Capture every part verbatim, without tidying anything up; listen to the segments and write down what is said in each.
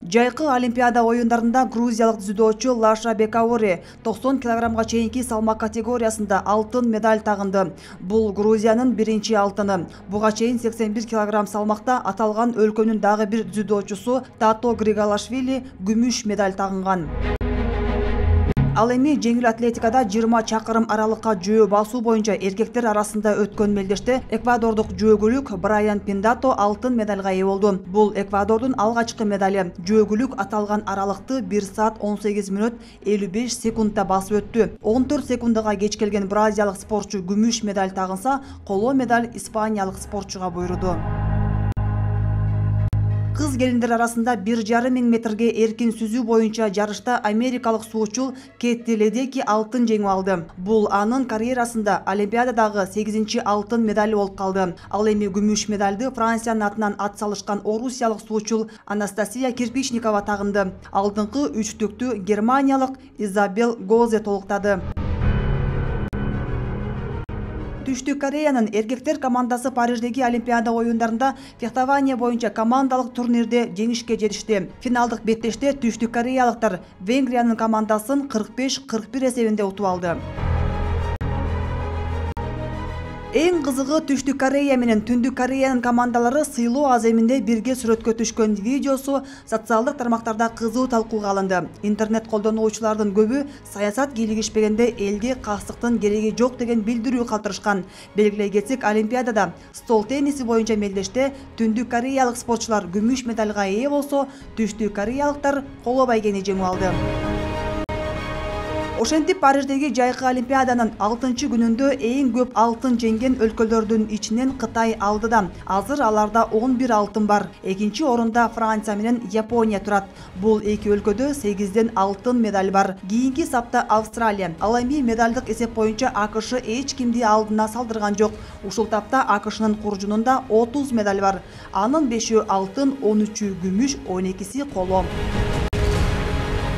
Жайкы Олимпиада оюндарында грузиялык дзюдочу Лаша Бекаори токсон килограммга чейинки салмак категориясында алтын медаль тагынды. Бул Грузиянын биринчи алтыны. Буга чейин сексен бир килограмм салмакта аталган өлкөнүн дагы бир дзюдочусу Тато Григалашвили күмүш медаль тагынган. Ал эми жеңил атлетикада жыйырма чакырым аралыкка жөө басуу боюнча эркектер арасында өткөн мелдеште эквадордук жөөгүлүк Брайан Пиндато алтын медальга ээ болду. Бул Эквадордун алгачкы медали. Жөөгүлүк аталган аралыкты бир саат он сегиз мүнөт элүү беш секундда басып өттү. он төрт секундага кеч келген бразилиялык спортчу күмүш медаль тагынса, коло медаль испаниялык спортчуга буйруду. Кыз келиндер арасында бир жарым миң метрге эркин сүзүү боюнча жарышта америкалык суучул Кетти Ледеки алтын жеңип алды. Бул анын карьерасында Олимпиададагы сегизинчи алтын медали болуп калды. Ал эми күмүш медальды Франциянын атынан ат салышкан орусиялык суучул Анастасия Кирпичникова тагынды. Алдыңкы үчтүктү германиялык Изабел Гозе толуктады. Түштүк Кореянын эркектер командасы Париждеги Олимпиада оюндарында фехтование боюнча командалык турнирде жеңишке жетишти. Финалдык беттеште Түштүк Кореялыктар Венгриянын командасын кырк беш кырк бир эсебинде утуп алды. Эң кызыгы Түштүк Корея менен Түндүк Кореянын командалары сыйлоо аземинде бирге сүрөткө түшкөн видеосу социалдык тармактарда кызуу талкууга алынды. Интернет колдонуучулардын көбү саясат кийлигишпегенде элге кастыктын кереги жок деген билдирүү калтырышкан. Белгилей кетсек, Олимпиадада стол тенниси боюнча мелдеште Түндүк Кореялык спортчулар күмүш медальга ээ болсо, Түштүк Кореялыктар коло байгени жеңип алды. Ошентип Париждеги жайкы Олимпиаданын алтынчы күнүндө эң көп алтын жеңген өлкөлөрдүн ичинен Кытай алдыда. Азыр аларда он бир алтын бар. Экинчи орунда Франция менен Япония турат. Бул эки өлкөдө сегизден алтын медаль бар. Кийинки сапта Австралия. Ал эми медалдык эсеп боюнча АКШ эч кимди алдына салдырган жок. Ушул тапта АКШнын куржунунда отуз медаль бар. Анын бешөө алтын, он үчү күмүш, он экиси коло.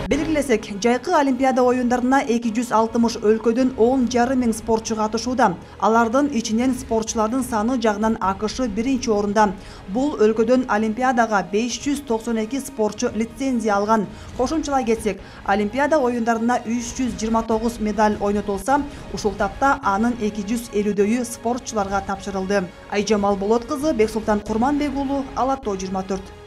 Белгилесек, жайкы Олимпиада оюндарына эки жүз алтымыш өлкөдөн он жарым миң спортчу катышууда. Алардын ичинен спортчулардын саны жагынан АКШ биринчи орунда. Бул өлкөдөн Олимпиадага беш жүз токсон эки спортчу лицензия алган. Кошумчалай кетсек, Олимпиада оюндарына үч жүз жыйырма тогуз медаль ойнотулса, ушул тапта анын эки жүз элүүдөйү спортчуларга тапшырылды. Айжамал Болот кызы, Бексултан Курманбек уулу, Ала Тоо жыйырма төрт.